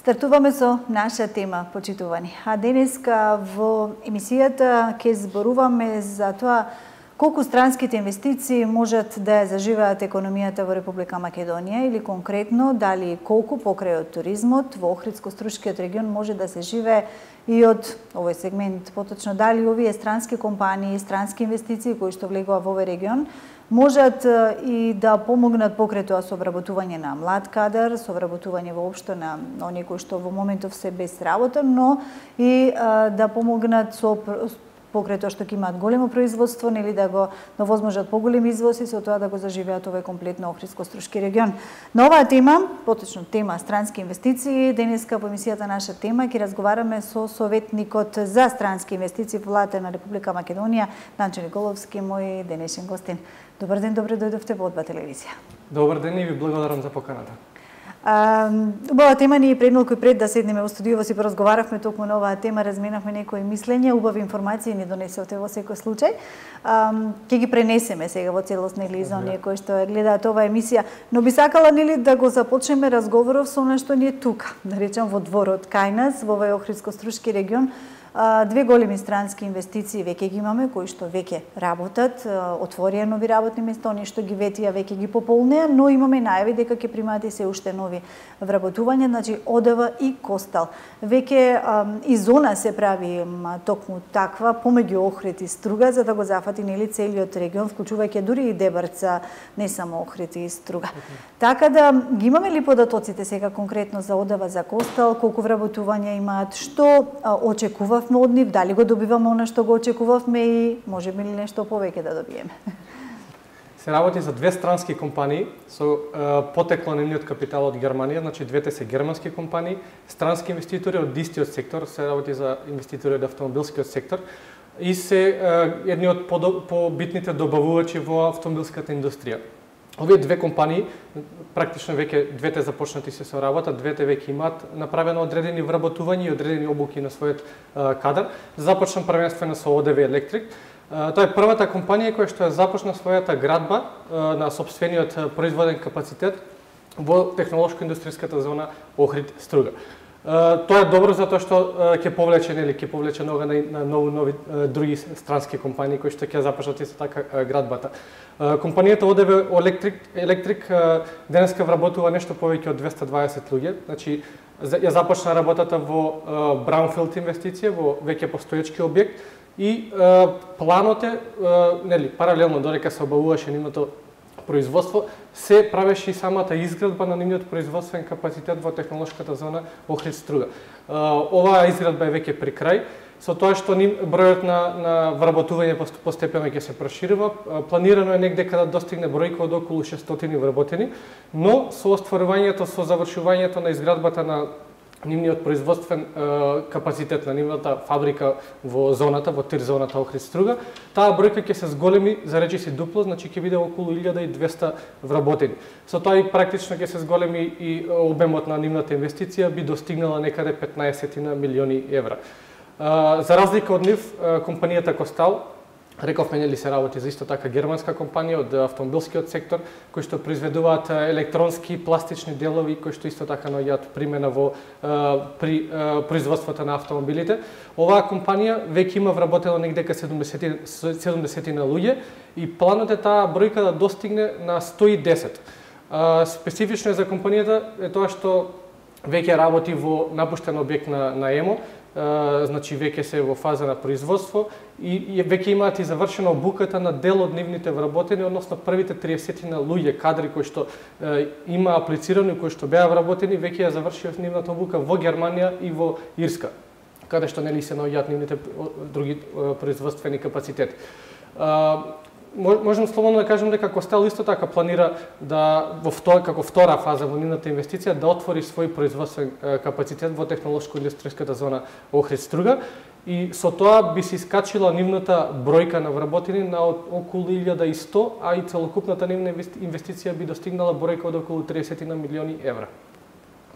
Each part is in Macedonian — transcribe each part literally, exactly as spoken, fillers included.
Стартуваме со наша тема, почитувани. А денеска во емисијата ќе зборуваме за тоа колку странските инвестиции можат да ја заживеат економијата во Република Македонија или конкретно дали колку покрај од туризмот во Охридско-Струшкиот регион може да се живее и од овој сегмент, поточно дали овие странски компании, странски инвестиции кои што влегува во овој регион можат и да помогнат покрај тоа со вработување на млад кадар, со вработување воопшто на оние кои што во моментов се без работа, но и а, да помогнат со покрај тоа што ќе имаат големо производство, нели да го да возможат поголеми извози, со тоа да го заживеат овој комплетно Охридско-Струшки регион. На оваа тема, поточно тема странски инвестиции, денеска во емисијата наша тема ќе разговараме со советникот за странски инвестиции во владата на Република Македонија, Данчо Николовски, мој денешен гостин. Добар ден, добре дојдовте во Одба телевизија. Добар ден и ви благодарам за поканата. Убава тема ни пред малку и пред да седнеме во студиово си поразговаравме токму на оваа тема, разменавме некои мислења, убави информации ни донесовте во секој случај. Ќе ги пренесеме сега во целост нели за оние кои што гледаат оваа емисија, но би сакала нели да го започнеме разговоров со она што ни е тука, да речем во дворот кај нас, во овој Охридско-Струшки регион. Две големи странски инвестиции веќе ги имаме, кои што веќе работат, отворија нови работни места, оние што ги ветија веќе ги пополнеа, но имаме најави дека ќе примаат и се уште нови вработувања, значи Одева и Костал. Веќе и зона се прави токму таква помеѓу Охрид и Струга за да го зафати нели целиот регион, вклучувајќи дури и Дебарца, не само Охрид и Струга. Така да ги имаме ли податоците сега конкретно за Одева, за Костал, колку вработувања имаат, што очекува од нив, дали го добиваме она што го очекувавме и можеме ли нешто повеќе да добиеме? Се работи за две странски компании со е, потекло нивниот капитал од Германија, значи двете се германски компании, странски инвеститори од истиот сектор, се работи за инвеститори од автомобилскиот сектор и се е, едни од побитните добавувачи во автомобилската индустрија. Овие две компании, практично веќе двете започнати се со работа, двете веќе имаат направено одредени вработувања и одредени обуки на својот а, кадар. Започна првенствено со Одева Електрик. А, тоа е првата компанија која што ја започна својата градба а, на сопствениот производен капацитет во технолошко-индустријската зона Охрид-Струга. Uh, тоа е добро затоа што uh, ќе повлече нели ќе повлече нога на, на нови нови uh, други странски компании кои што ќе започнат и со така uh, градбата. Uh, компанијата Одева Електрик Електрик uh, денеска вработува нешто повеќе од двесте дваесет луѓе, значи ја започна работата во uh, Браунфилд инвестиција, во веќе постоечки објект и uh, планот е uh, нели паралелно додека се обавуваше нивното производство, се правеше и самата изградба на нивниот производствен капацитет во технолошката зона Охрид-Струга. Оваа изградба е веќе при крај, со тоа што ним бројот на, на вработување постепено ќе се проширува. Планирано е негде када достигне бројка од околу шестстотини вработени, но со остварувањето, со завршувањето на изградбата на нивниот производствен е, капацитет на нивната фабрика во зоната, во тир зоната Охрид-Струга, таа бројка ќе се зголеми за речиси дупло, значи ќе биде околу илјада и двесте вработени. Со тоа и практично ќе се зголеми и обемот на нивната инвестиција би достигнала некаде петнаесет милиони евра. За разлика од нив, компанијата Костал, рековме нели се работи за исто така германска компанија од автомобилскиот сектор, кои што произведуваат електронски пластични делови кои што исто така наоѓаат примена во при производството на автомобилите. Оваа компанија веќе има вработено негде ка седумдесет на луѓе и планот е таа бројка да достигне на сто и десет. Специфично е за компанијата е тоа што веќе работи во напуштен објект на, на ЕМО, Uh, значи веќе се во фаза на производство и, и веќе имаат и завршена обуката на дел од нивните вработени, односно првите триесет на луѓе кадри кои што uh, има аплицирани, кои што беа вработени, веќе ја завршија нивната обука во Германија и во Ирска, каде што нели се наоѓаат нивните други uh, производствени капацитети. Uh, Можем слободно да кажем дека Костел исто така планира да во втора, како втора фаза во нивната инвестиција да отвори свој производствен капацитет во технолошко-индустријската зона Охрид-Струга и со тоа би се искачила нивната бројка на вработени на околу илјада и сто, а и целокупната нивна инвестиција би достигнала бројка од околу триесет милиони евра.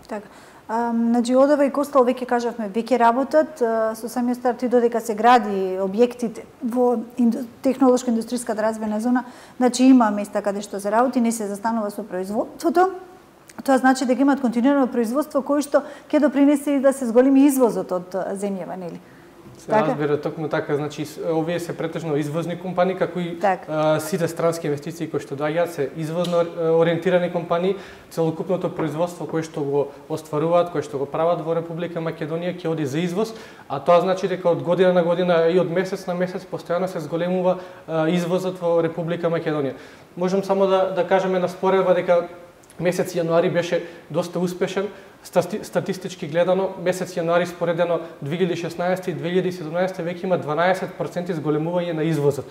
Така. Значи Одева и Костал веќе кажавме, веќе работат со самиот старт и додека се гради објектите во технолошко-индустријската развојна зона, значи има места каде што се работи, не се застанува со производството. тоа значи дека имаат континуирано производство кое што ќе допринесе и да се зголеми извозот од земјава, нели? Се разбира, токму така, значи овие се претежно извозни компании, како и а, сите странски инвестиции кои што доаѓаат се извозно ориентирани компании, целокупното производство кое што го остваруваат, кое што го прават во Република Македонија ќе оди за извоз, а тоа значи дека од година на година и од месец на месец постојано се зголемува а, извозот во Република Македонија. Можам само да да кажеме на споредба дека месец јануари беше доста успешен. Статистички гледано, месец јануари споредено две илјади и шеснаесета и две илјади и седумнаесета веќе има дванаесет проценти зголемување на извозот.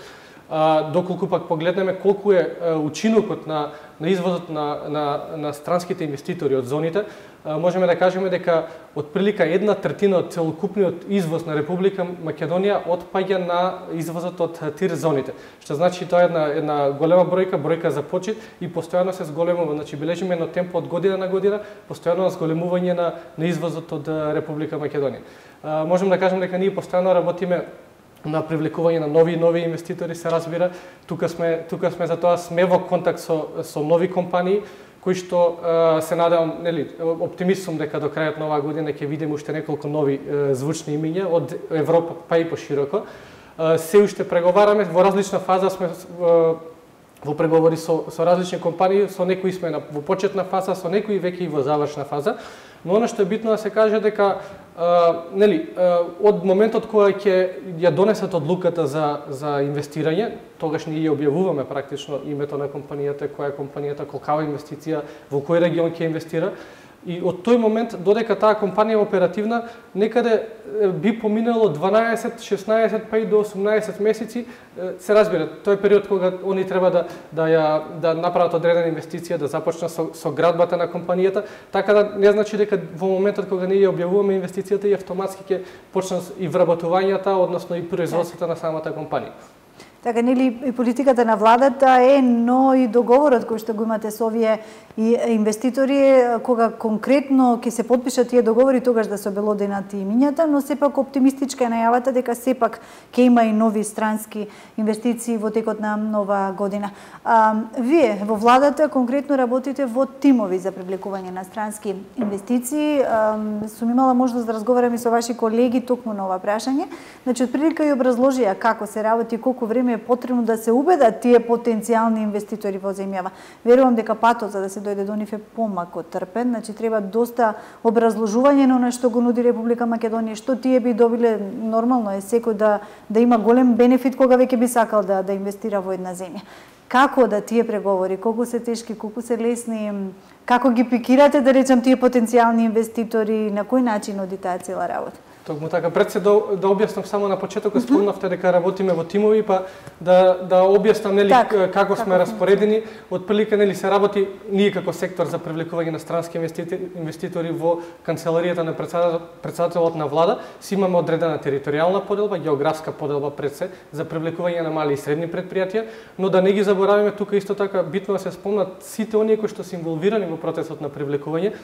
А, доколку пак погледнеме колку е а, учинокот на, на извозот на, на, на странските инвеститори од зоните, а, можеме да кажеме дека отприлика една третина од целокупниот извоз на Република Македонија отпаѓа на извозот од тир зоните. Што значи тоа е една, една голема бројка, бројка за почит и постојано се зголемува. Значи бележиме едно темпо од година на година, постојано зголемување на, на извозот од Република Македонија. А, можем да кажеме дека ние постојано работиме на привлекување на нови и нови инвеститори, се разбира. Тука сме, тука сме за тоа, сме во контакт со, со нови компании, кои што е, се надевам, нели, оптимист сум дека до крајот на оваа година ќе видиме уште неколку нови е, звучни имиња од Европа па и пошироко. Е, се уште преговараме, во различна фаза сме е, во преговори со, со различни компании, со некои сме на, во почетна фаза, со некои веќе и во завршна фаза. Но она што е битно да се каже дека Uh, нели, uh, од моментот кога ќе ја донесат одлуката за, за инвестирање, тогаш ние ја објавуваме практично името на компанијата, која е компанијата, колкава инвестиција, во кој регион ќе инвестира. И од тој момент, додека таа компанија е оперативна, некаде би поминало дванаесет, шеснаесет, па и до осумнаесет месеци, се разбира, тој е период кога они треба да да ја да направат одредена инвестиција, да започнат со, со градбата на компанијата, така да не значи дека во моментот кога ние ја објавуваме инвестицијата и автоматски ќе почнат и вработувањата, односно и производството на самата компанија. Така, нели, и политиката на владата е, но и договорот кој што го имате со овие и инвеститори, кога конкретно ќе се потпишат тие договори, тогаш да се обелоденат имињата, но сепак оптимистичка е најавата дека сепак ќе има и нови странски инвестиции во текот на нова година. А, вие во владата конкретно работите во тимови за привлекување на странски инвестиции. А, сум имала можност да разговарам и со ваши колеги токму на ова прашање. Значи, отприлика и образложија како се работи, колку време е потребно да се убедат тие потенцијални инвеститори во земјава. Верувам дека патот за да се дојде до нив е помалку трпен, значи треба доста образложување на она што го нуди Република Македонија, што тие би добиле. Нормално е секој да да има голем бенефит кога веќе би сакал да да инвестира во една земја. Како да тие преговори, колку се тешки, колку се лесни, како ги пикирате, да речам, тие потенцијални инвеститори, на кој начин оди таа цела работа? Токму така, пред се да, да објаснам само на почетокот, спомнавте дека работиме во тимови, па да да објаснам нели так, како сме распоредени. Отприлика нели се работи ние како сектор за привлекување на странски инвеститори, инвеститори во канцеларијата на председателот на влада, си имаме одредена територијална поделба, географска поделба пред се за привлекување на мали и средни предпријатија, но да не ги забораваме тука исто така битно да се спомнат сите оние кои што се инволвирани во процесот на привлекување.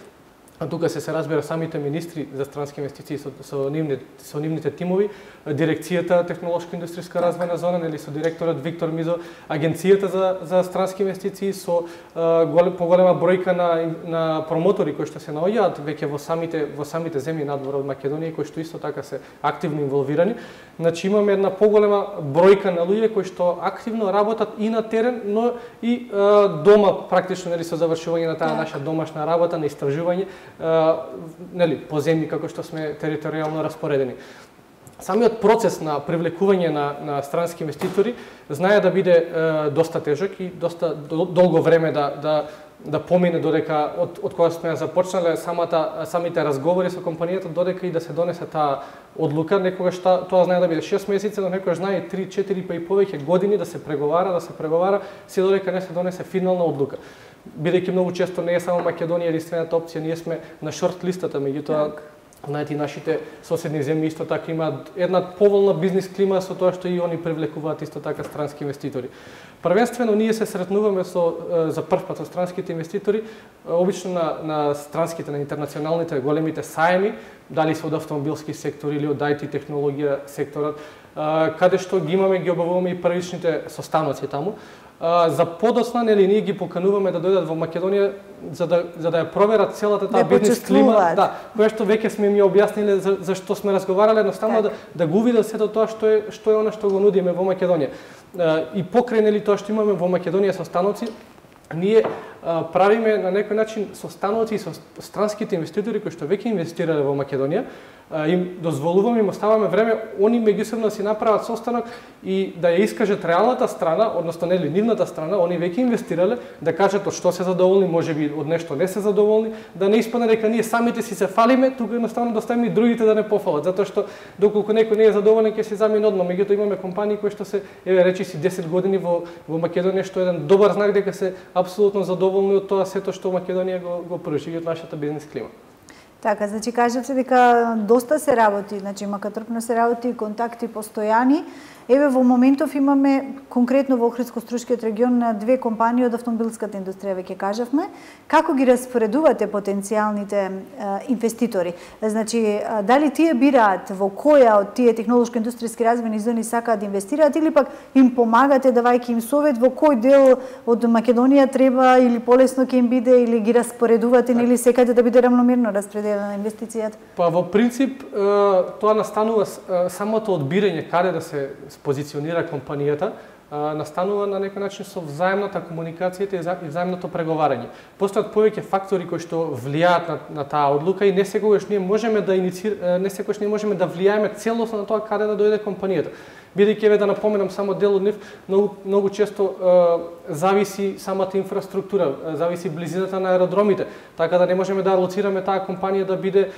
А тука се се разбира самите министри за странски инвестиции со, со, нивните, со нивните тимови, дирекцијата технолошко-индустријска развојна зона, нели со директорот Виктор Мизо, агенцијата за за странски инвестиции со а, голем, поголема бројка на на промотори кои што се наоѓаат веќе во самите во самите земји надвор од Македонија, кои што исто така се активно инволвирани. Значи имаме една поголема бројка на луѓе кои што активно работат и на терен, но и а, дома практично нели со завршување на таа наша домашна работа на истражување, Uh, нели, по земји како што сме територијално распоредени. Самиот процес на привлекување на, на странски инвеститори знае да биде uh, доста тежок и доста долго време да, да, да помине додека од, од кога сме започнале самата, самите разговори со компанијата, додека и да се донесе таа одлука. Некогаш та, тоа знае да биде шест месеци, но некогаш знае три, четири па и повеќе години да се преговара, да се преговара, се додека не се донесе финална одлука. Бидејќи многу често не е само Македонија единствената опција, ние сме на шорт листата, меѓутоа знаете, нашите соседни земји исто така имаат една поволна бизнис клима со тоа што и они привлекуваат исто така странски инвеститори. Првенствено ние се сретнуваме со за прв пат со странските инвеститори, обично на на странските, на интернационалните големите саеми, дали се од автомобилски сектор или од ай ти технологија секторот, каде што ги имаме, ги обавуваме и првичните состаноци таму. за подоцна, нели ние ги покануваме да дојдат во Македонија за да за да ја проверат целата таа да бизнис клима, да, која што веќе сме ми објасниле за, за што сме разговарале, едноставно да, да го видат сето тоа што е што е она што го нудиме во Македонија. И покрај нели тоа што имаме во Македонија со станоци, ние а, правиме на некој начин со станоци и со странските инвеститори кои што веќе инвестирале во Македонија, а, им дозволуваме, им оставаме време они меѓусебно си направат состанок и да ја искажат реалната страна, односно нели нивната страна, они веќе инвестирале, да кажат од што се задоволни, можеби од нешто не се задоволни, да не испадне дека ние самите си се фалиме, тука едноставно да оставиме и другите да не пофалат, затоа што доколку некој не е задоволен ќе се замине одма, меѓутоа имаме компании кои што се еве речи си десет години во во Македонија, што е еден добар знак дека се апсолутно задоволни од тоа сето што Македонија го го пружи од нашата бизнис клима. Така, значи кажавте дека доста се работи, значи макатрпно се работи, контакти постојани. Еве во моментов имаме конкретно во Охридско-Струшкиот регион две компании од автомобилската индустрија, веќе кажавме. Како ги распоредувате потенцијалните е, инвеститори? Значи, дали тие бираат во која од тие технолошко-индустријски развојни зони сакаат да инвестираат или пак им помагате давајќи им совет во кој дел од Македонија треба или полесно ќе им биде или ги распоредувате или секаде да биде рамномерно распределена инвестицијата? Па во принцип тоа настанува самото одбирање каде да се позиционира компанијата, настанува на некој начин со взаемната комуникацијата и взаемното преговарање. Постојат повеќе фактори кои што влијаат на, на таа одлука и не секогаш ние можеме да иницир... не секогаш ние можеме да влијаеме целосно на тоа каде да дојде компанијата. Бидејќи еве да напоменам само дел од нив, многу многу често е, зависи самата инфраструктура, е, зависи близината на аеродромите, така да не можеме да алоцираме таа компанија да биде е,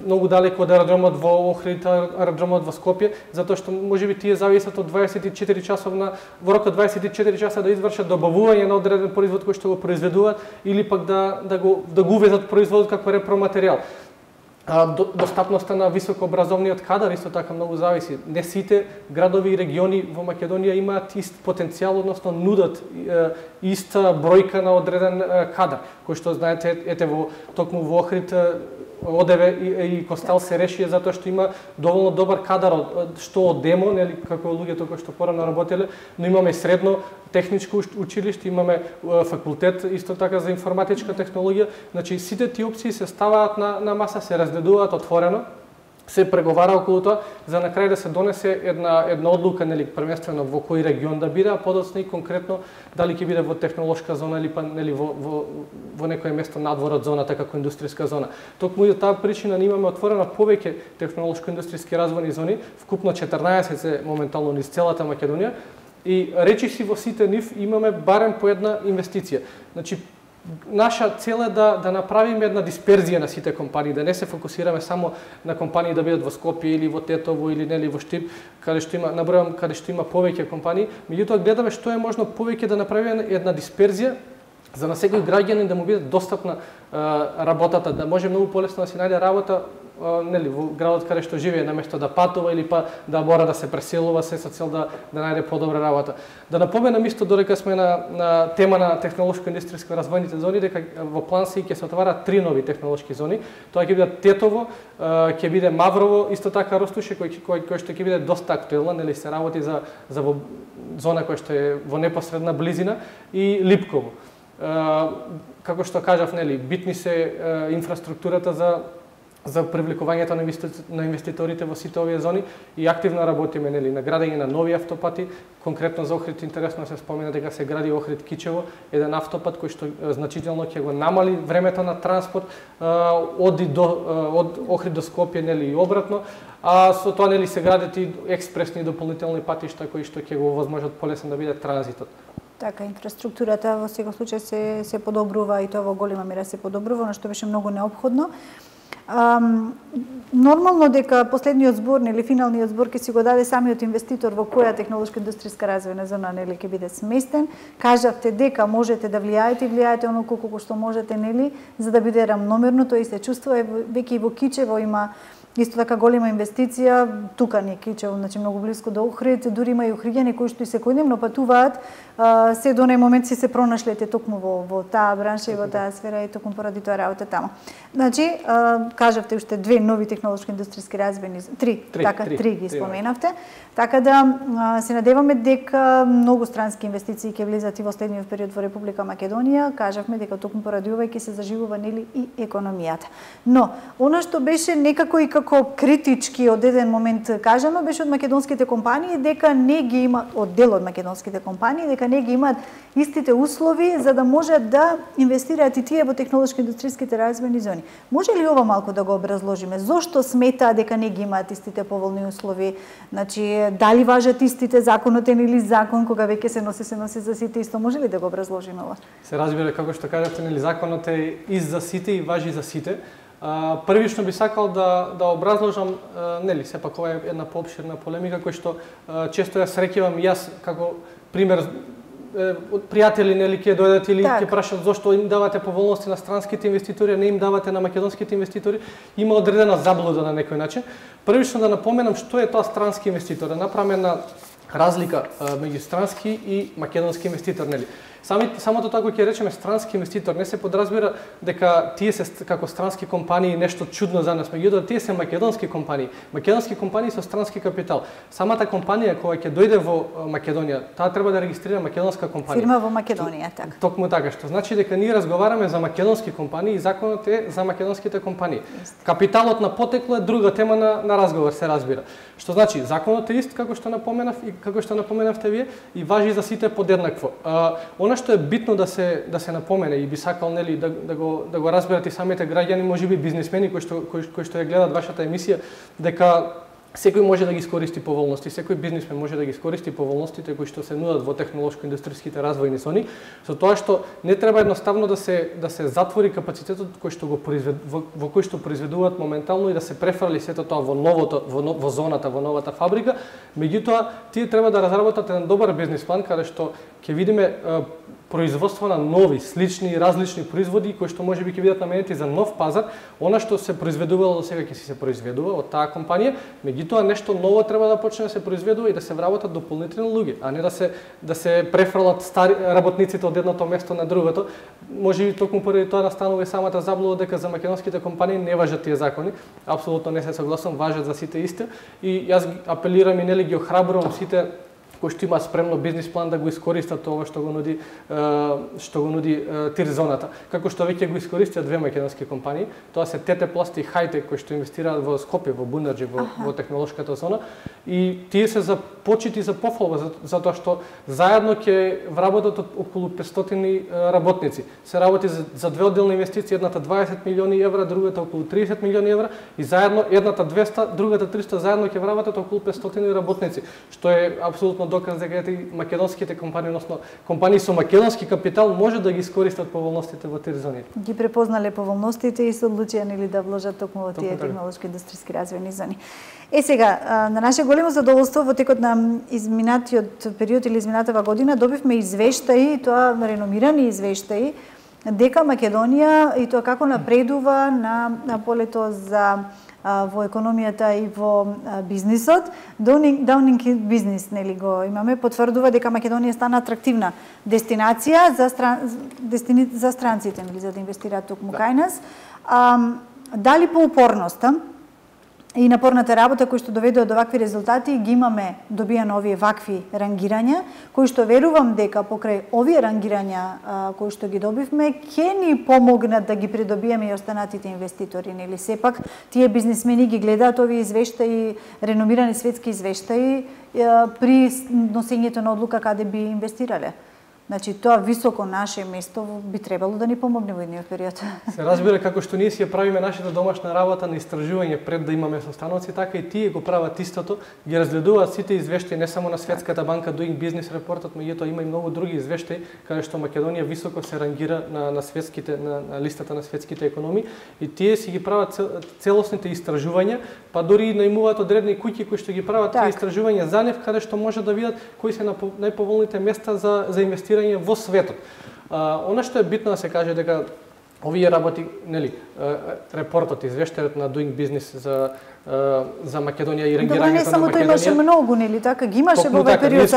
многу далеко од аеродромот во Охрид, аеродромот во Скопје, затоа што можеби тие зависат од дваесет и четири часовна во рок од дваесет и четири часа да извршат добавување на одреден производ кој што го произведуваат или пак да да го да го увезат производот како репроматеријал. Достапноста на високообразовниот кадар исто така многу зависи. Не сите градови и региони во Македонија имаат ист потенцијал, односно нудат иста бројка на одреден кадар, кој што знаете ете во токму во Охрид одеве и, и Костел се реши затоа што има доволно добар кадар што од демо, нели како луѓето кои што порано работеле, но имаме средно техничко училиште, имаме факултет исто така за информатичка технологија, значи сите тие опции се ставаат на на маса, се разгледуваат отворено, се преговара околу тоа за на крај да се донесе една една одлука, нели првенствено во кој регион да биде, а подоцна и конкретно дали ќе биде во технолошка зона или па нели во во во некое место надвор од зоната како индустријска зона. Токму и таа причина ние имаме отворено повеќе технолошко-индустријски развојни зони, вкупно четрнаесет се моментално низ целата Македонија и речиси во сите нив имаме барем по една инвестиција. Значи наша цел е да да направиме една дисперзија на сите компании, да не се фокусираме само на компании да бидат во Скопје или во Тетово или нели во Штип, каде што има набројам каде што има повеќе компании, меѓутоа гледаме што е можно повеќе да направиме една дисперзија за на секој граѓанин да му биде достапна а, работата, да може многу полесно да си најде работа а, нели во градот каде што живее, наместо да патува или па да мора да се преселува се со цел да да најде подобра работа. Да напоменам исто додека сме на на тема на технолошко-индустријско развојните зони, дека во план се ќе се отварат три нови технолошки зони. Тоа ќе биде Тетово, ќе биде Маврово, исто така Ростуше кој кој кој што ќе биде доста актуелна, нели се работи за за во зона која што е во непосредна близина и Липково. Како што кажав, нели, битни се инфраструктурата за за привлекувањето на, инвести... на инвеститорите во сите овие зони и активно работиме, нели, на градење на нови автопати. Конкретно за Охрид интересно се спомена дека се гради Охрид Кичево, еден автопат кој што значително ќе го намали времето на транспорт од до од Охрид до Скопје, нели, и обратно. А со тоа, нели, се градат и експресни дополнителни патишта кои што ќе го овозможат полесно да биде транзитот. Така, инфраструктурата во секој случај се се подобрува и тоа во голема мера се подобрува, но што беше многу неопходно. Um, нормално дека последниот збор, нели финалниот збор ќе си го даде самиот инвеститор во која технолошко-индустријска развојна зона нели ќе биде сместен. Кажавте дека можете да влијаете и влијаете оноку колку што можете, нели, за да биде рамномерно, тоа и се чувствува веќе и во Кичево има исто така голема инвестиција тука не Кичево, значи многу блиску до Охрид, дури има и охриѓани кои што и секојдневно патуваат, се до нај момент си се пронашлете токму во во таа бранша и во таа сфера и токму поради тоа работа таму. Значи, кажавте уште две нови технолошки индустријски развојни, три, три така три, три ги споменавте. Така да се надеваме дека многу странски инвестиции ќе влезат и во следниот период во Република Македонија. Кажавме дека токму поради ова ќе се заживува нели и економијата. Но она што беше некако и како критички од еден момент кажано беше од македонските компании дека не ги има од дел од македонските компании дека не ги имаат истите услови за да можат да инвестираат и тие во технолошки индустријските развојни зони. Може ли ова малку да го образложиме? Зошто сметаа дека не ги имаат истите поволни услови? Значи, дали важат истите законот или закон кога веќе се носи се носи за сите исто? Може ли да го образложиме ова? Се разбира како што кажавте, нели законот е и за сите и важи за сите. А, првично би сакал да да образложам, а, нели, сепак ова е една поопширна полемика која што а, често ја среќавам јас како пример од пријатели, нели, ќе дојдат или ќе прашат зошто им давате поволности на странските инвеститори, а не им давате на македонските инвеститори. Има одредена заблуда на некој начин. Првично да напоменам што е тоа странски инвеститор, да направиме една разлика меѓу странски и македонски инвеститор, нели. Сами, самото така ќе речеме странски инвеститор, не се подразбира дека тие се како странски компании нешто чудно за нас, меѓутоа тие се македонски компании. Македонски компании со странски капитал. Самата компанија која ќе дојде во Македонија, таа треба да регистрира македонска компанија. Фирма во Македонија, така. Токму така, што значи дека ние разговараме за македонски компании и законот е за македонските компании. Капиталот на потекло е друга тема на, на разговор, се разбира. Што значи законот е ист како што напоменав и како што напоменавте вие и важи за сите подеднакво. А, она што е битно да се да се напомене и би сакал нели да да го да го разберат и самите граѓани, можеби бизнисмени кои што кои, кои што ја гледат вашата емисија, дека секој може да ги искористи поволности, секој бизнисмен може да ги искористи поволностите кои што се нудат во технолошко-индустријските развојни зони, со тоа што не треба едноставно да се да се затвори капацитетот кој што го произвед, во, во кој што произведуваат моментално и да се префрли сето тоа во новото во, во зоната, во новата фабрика. Меѓутоа, тие треба да разработат еден добар бизнис план каде што ќе видиме производство на нови, слични и различни производи кои што можеби ќе бидат наменети за нов пазар. Она што се произведувало до сега ќе се произведува од таа компанија, меѓутоа нешто ново треба да почне да се произведува и да се вработат дополнителни луѓе, а не да се да се префрлат стари работниците од едното место на другото. Можеби токму поради тоа настанува и самата заблуда дека за македонските компании не важат тие закони. Апсолутно не се согласувам, важат за сите исти и јас апелирам и нели ги охрабрувам сите кои што има спремно бизнис план да го искористат ова што го нуди што го нуди Тирзоната. Како што веќе го искористија две македонски компании, тоа се ТТ Пласт и Хајтек кои што инвестираат во Скопје, во Бунарџи, во, во технолошката зона и тие се за почити за пофалба затоа што заедно ќе вработат околу петстотини работници. Се работи за, за две одделни инвестиции, едната дваесет милиони евра, другата околу триесет милиони евра и заедно едната двеста, другата триста, заедно ќе вработат околу петстотини работници, што е апсолутно доказ дека и македонските компании, односно компании со македонски капитал може да ги искористат поволностите во тие зони. Ги препознале поволностите и се одлучија нели да вложат токму во тие технолошки индустријски развојни зони. Е сега, на наше големо задоволство во текот на изминатиот период или изминатава година добивме извештаи, тоа реномирани извештаи, дека Македонија и тоа како напредува на, на полето за во економијата и во бизнисот. Даунинг бизнис, нели го имаме, потврдува дека Македонија стана атрактивна дестинација за стран, дестини, за странците, нели, за да инвестираат токму кај нас. А, дали по упорноста и напорната работа кои што доведува до вакви резултати ги имаме добијано овие вакви рангирања, кои што верувам дека покрај овие рангирања а, кои што ги добивме ќе ни помогнат да ги придобиеме и останатите инвеститори, нели сепак тие бизнисмени ги гледаат овие извештаи, реномирани светски извештаи а, при носењето на одлука каде би инвестирале. Значи, тоа високо наше место би требало да ни помогне во едниот период. Се разбира како што ние си ја правиме нашата домашна работа на истражување пред да имаме состаноци, така и тие го прават истото, ги разгледуваат сите извештаи, не само на Светската банка Doing Business Reportот, меѓутоа има и многу други извештаи каде што Македонија високо се рангира на на светските на, на листата на светските економии и тие си ги прават целосните истражувања, па дури и најмуваат одредени куќи кои што ги прават тие истражувања за нив, каде што може да видат кои се најповолните места за за инвестирање во светот. А, она што е битно да се каже дека овие работи, нели, репортот, извештајот на Doing Business за за Македонија и рангирањето на Македонија. Добре, не само тоа имаше многу, нели така? Ги имаше во овој период,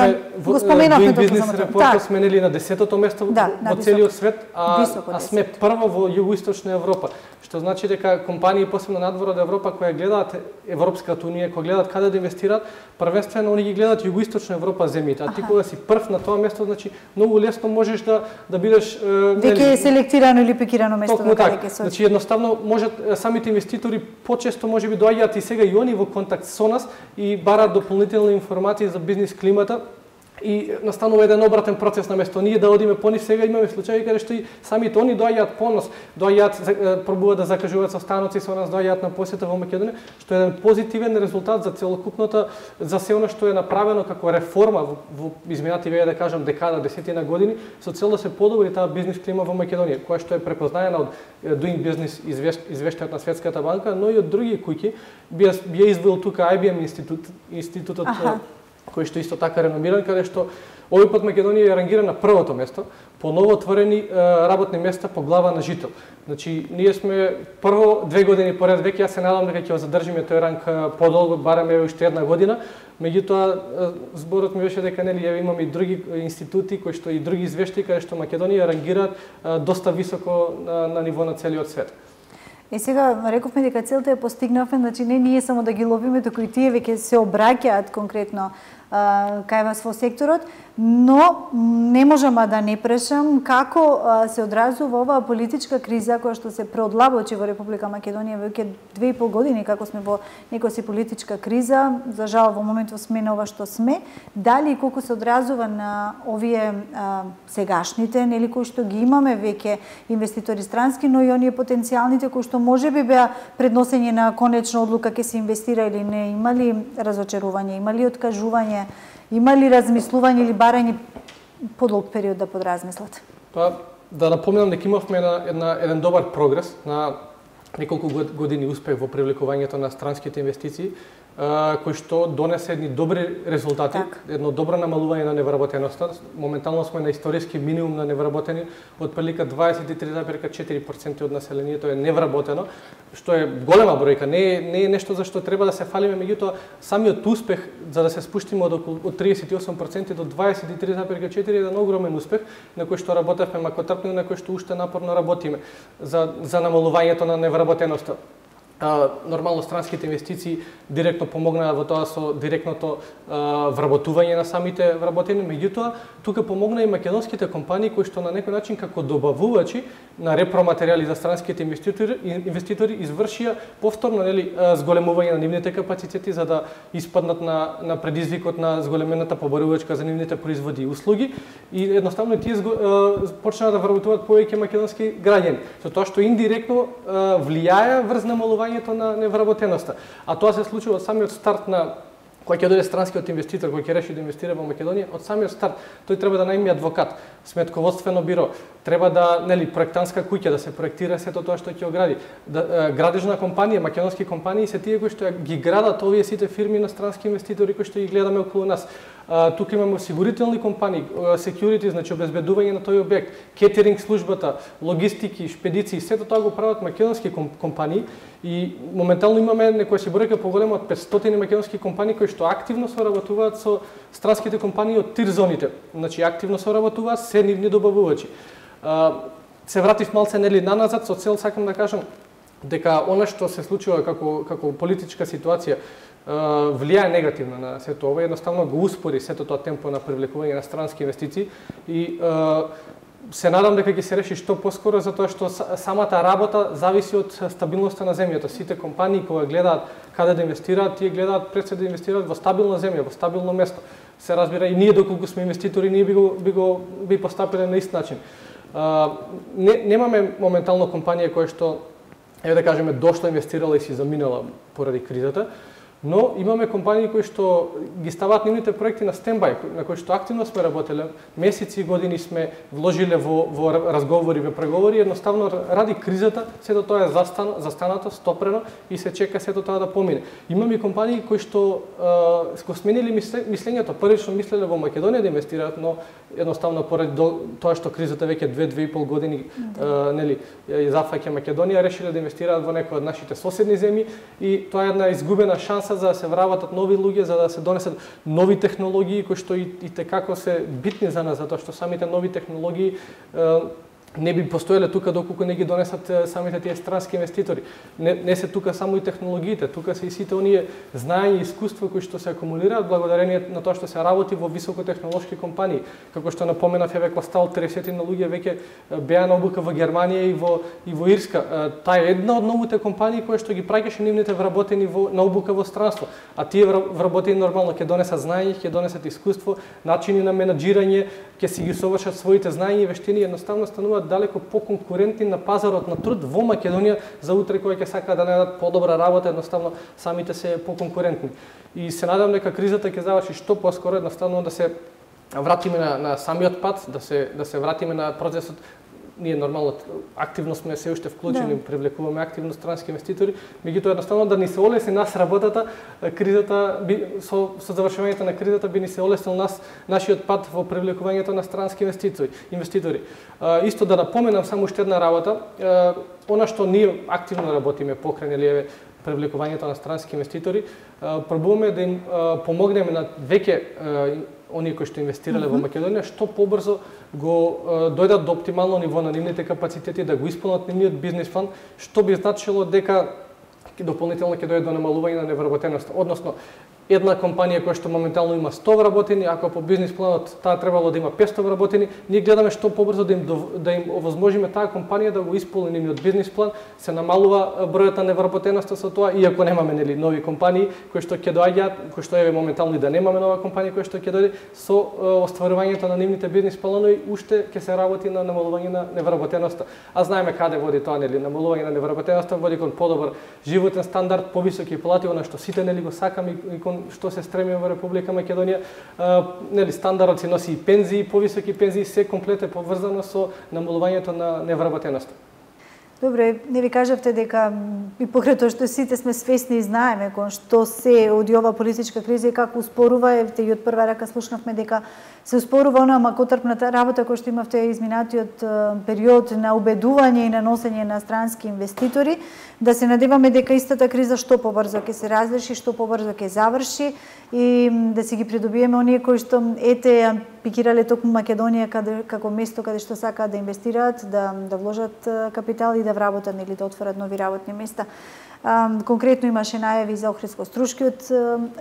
го споменавме тоа за Македонија. Сме нели на десетото место да, во целиот свет, а, а сме прво во југоисточна Европа. Што значи дека компании посебно надвор од Европа кои гледаат Европската унија, кои гледаат каде да инвестираат, првенствено они ги гледаат југоисточна Европа земјите. А ти кога си прв на тоа место, значи многу лесно можеш да да бидеш веќе е селектирано или пикирано место каде ќе се. Значи едноставно можат самите инвеститори почесто можеби доаѓаат и сега и они во контакт со нас и бараат дополнителни информации за бизнис климата. И настанува еден обратен процес на место ние да одиме по нив. Сега имаме случаи каде што и самите они доаѓаат по нас, доаѓаат, пробуваат да закажуваат состаноци со нас, доаѓаат на посета во Македонија, што е еден позитивен резултат за целокупната, за се она што е направено како реформа во, во изминативе, да кажам, декада, десетина години, со цел да се подобри таа бизнис клима во Македонија, која што е препознаена од Doing Business извештајот на Светската банка, но и од други куќи. Би ја извоил тука Ай Би Ем институт, институтот кој што исто така реномиран, каде што овој пат Македонија е рангирана на првото место по новоотворени работни места по глава на жител. Значи, ние сме прво две години поред веќе, јас се надам дека ќе го задржиме тој ранг подолго, бараме уште една година. Меѓутоа, зборот ми беше дека нели имаме и други институти кои што и други извештаи каде што Македонија рангираат доста високо на, на ниво на целиот свет. И сега рековме дека целта е постигнавме, значи не ние само да ги ловиме, туку и тие веќе се обраќаат конкретно кај вас во секторот, но не можам да не прашам како се одразува оваа политичка криза која што се преодлабочи во Република Македонија веќе две и пол години, како сме во некоја си политичка криза, за жал во моментов сме на ова што сме, дали и колку се одразува на овие а, сегашните, нели кои што ги имаме веќе инвеститори странски, но и оние потенцијалните кои што можеби беа предносење на конечна одлука ќе се инвестира или не, имали разочарување, имали откажување, има ли размислување или барање подолг период да подразмислат? Па, да напоменам дека имавме една, една, еден добар прогрес на неколку години успех во привлекувањето на странските инвестиции, кој што донесе едни добри резултати, так. Едно добро намалување на невработеноста. Моментално сме на историски минимум на невработени, од прилика дваесет и три зарез и четири проценти од населението е невработено, што е голема бројка, не е, не е нешто за што треба да се фалиме, меѓутоа самиот успех за да се спуштиме од околу од триесет и осум проценти до дваесет и три зарез и четири е еден огромен успех на кој што работевме макотрпно, на кој што уште напорно работиме за за намалувањето на невработеноста. Uh, нормално странските инвестиции директно помогнаа во тоа со директното uh, вработување на самите вработени, меѓутоа тука помогна и македонските компании кои што на некој начин како добавувачи на репроматеријали за странските инвеститори инвеститори извршија повторно нели зголемување на нивните капацитети за да испаднат на на предизвикот на зголемената побарувачка за нивните производи и услуги и едноставно тие uh, почнаа да вработуваат повеќе македонски граѓани, со тоа што индиректно uh, влијае врз намалување на невработеноста. А тоа се случува од самиот старт на кој ќе дојде странскиот инвеститор, кој ќе реши да инвестира во Македонија, од самиот старт тој треба да најми адвокат, сметководствено биро, треба да, нели, проектантска куќа да се проектира сето тоа што ќе огради. Да, градежна компанија, македонски компании се тие кои што ги градат овие сите фирми на странски инвеститори кои што ги гледаме околу нас. Uh, тука имаме осигурителни компании, uh, security, значи обезбедување на тој објект, кетеринг службата, логистики, шпедиции, сето тоа го прават македонски компании и моментално имаме некоја си бројка поголема од петстотини македонски компании кои што активно соработуваат со странските компании од тир зоните. Значи активно соработуваат се нивни добавувачи. Uh, се вратив малце нели наназад со цел сакам да кажам дека она што се случува како како политичка ситуација влијае негативно на сето ова, едноставно го успори сето тоа темпо на привлекување на странски инвестиции и се надам дека ќе се реши што поскоро, затоа што самата работа зависи од стабилноста на земјата. Сите компании кога гледаат каде да инвестираат, тие гледаат пред се да инвестираат во стабилна земја, во стабилно место. Се разбира и ние доколку сме инвеститори, ние би го би го би постапиле на ист начин. Не, немаме моментално компанија која што еве да кажеме дошла, инвестирала и си заминала поради кризата. Но имаме компании кои што ги ставаат нивните проекти на стендбај, на кои што активно сме работеле, месеци и години сме вложиле во, во разговори, во преговори, едноставно ради кризата, сето тоа е застан, застанато, стопрено и се чека сето тоа да помине. Имаме компании кои што е, го сменили мислењето, првично мислеле во Македонија да инвестираат, но едноставно поради тоа што кризата веќе две две и пол години да. е, нели зафаќа Македонија, решиле да инвестираат во некои од нашите соседни земји и тоа е една изгубена шанса за да се вработат нови луѓе, за да се донесат нови технологии кои што и, и текако се битни за нас, затоа што самите нови технологии е, не би постоеле тука доколку не ги донесат самите тие странски инвеститори. Не, не се тука само и технологиите, тука се и сите оние знаења и искуства кои што се акумулираат благодарение на тоа што се работи во високотехнолошки компании. Како што напоменав, еве Костал, триесет на луѓе веќе беа на обука во Германија и во и во Ирска. Таа е една од новите компании кои што ги праќаше нивните вработени во на обука во странство, а тие вработени нормално ќе донесат знаење, ќе донесат искуство, начини на менаџирање, ќе си ги совршат своите знаења и вештини, едноставно стануваат далеко поконкурентни на пазарот на труд во Македонија за утре кои ќе сакаат да најдат подобра работа, едноставно самите се поконкурентни. И се надам дека кризата ќе заврши што поскоро, едноставно да се вратиме на, на самиот пат, да се да се вратиме на процесот. Ние нормално активно сме се уште вклучени, да. Привлекуваме активно странски инвеститори, меѓутоа едноставно да ни се олесни нас работата, кризата би со со завршувањето на кризата би ни се олеснил нас нашиот пат во привлекувањето на странски инвеститори. Инвеститори. А, исто да напоменам само уште една работа, а, она што ние активно работиме покрај нели еве привлекувањето на странски инвеститори, а, пробуваме да им а, помогнеме на веќе оние кои што инвестирале mm-hmm. во Македонија, што побрзо го е, дојдат до оптимално ниво на нивните капацитети, да го исполнат нивниот бизнис план, што би значило дека дополнително ќе дојде до намалување на невработеноста. Односно, една компанија која што моментално има сто вработени, ако по бизнис планот таа требало да има петстотини вработени, ние гледаме што побрзо да им да им овозможиме таа компанија да го исполни нивниот бизнис план, се намалува бројот на невработеноста со тоа, иако немаме нели нови компании кои што ќе доаѓаат, кои што еве моментално и да немаме нова компанија која што ќе дојде со остварувањето на нивните бизнис планови, уште ќе се работи на намалување на невработеноста. А знаеме каде води тоа, нели, намалување на невработеноста води кон подобар животен стандард, повисоки плати, она што сите нели го сакаме и кон што се стремиме во Република Македонија, а, нели стандардот си носи и пензии, повисоки пензии, се комплет е поврзано со намалувањето на невработеноста. Добре, не ви кажавте дека и покрај тоа што сите сме свесни и знаеме кон што се оди ова политичка криза и како успорува, евте и од прва рака слушнавме дека се успорува онаа макотрпната работа која што имавте изминатиот период на убедување и на носење на странски инвеститори, да се надеваме дека истата криза што побрзо ќе се разреши, што побрзо ќе заврши и да си ги придобиеме оние кои што ете пикирале токму Македонија каде како место каде што сакаат да инвестираат, да да вложат капитал и да вработат или да отворат нови работни места. А, конкретно имаше најави за Охридско-Струшкиот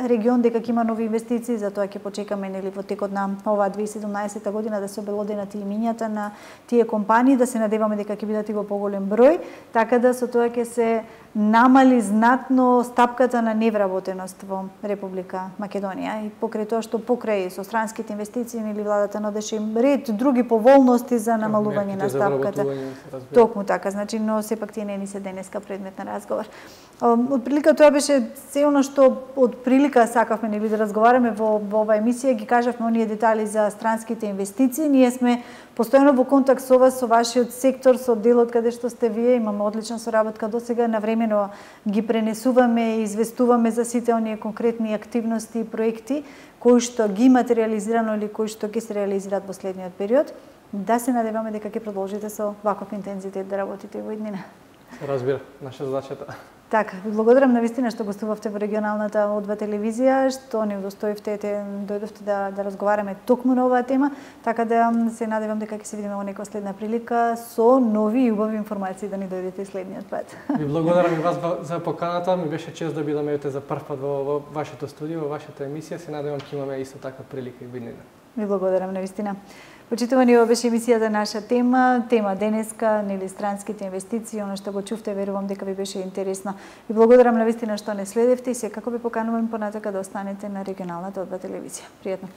регион дека ќе има нови инвестиции, затоа ќе почекаме нели во текот на оваа две илјади и седумнаесета година да се обелоденат и имињата на тие компании, да се надеваме дека ќе бидат и во поголем број, така да со тоа ќе се намали знатно стапката на невработеност во Република Македонија и покрај тоа што покрај со странските инвестиции нели владата нудеше ред други поволности за намалување на стапката. Токму така, значи, но сепак тие не ни се денеска предмет на разговор. Од прилика тоа беше се она што од прилика сакавме нели да разговараме во, во оваа емисија, ги кажавме оние детали за странските инвестиции. Ние сме постојано во контакт со вас, со вашиот сектор, со делот каде што сте вие, имаме одлична соработка досега, навремено ги пренесуваме и известуваме за сите оние конкретни активности и проекти кои што ги материализирано или кои што ќе се реализираат во следниот период. Да се надеваме дека ќе продолжите со ваков интензитет да работите во иднина. Се разбира, наша задачата. Така, ви благодарам навистина што гостувавте во регионалната О два телевизија, што ни удостоивте, ете, дојдовте да, да разговараме токму на оваа тема, така да се надевам дека ќе се видиме во некоја следна прилика со нови и убави информации да ни дојдете следниот пат. Ви благодарам и вас за поканата, ми беше чест да бидам ете за прв пат во, во вашето студио, во вашата емисија, се надевам ќе имаме исто така прилика и виднина. Ви благодарам навистина. Почитувани, ова беше емисијата наша тема, тема денеска, нели странските инвестиции, она што го чувте, верувам дека ви беше интересно. Ви благодарам навистина што не следевте и секако ви поканувам понатака да останете на регионалната О два телевизија. Пријатно.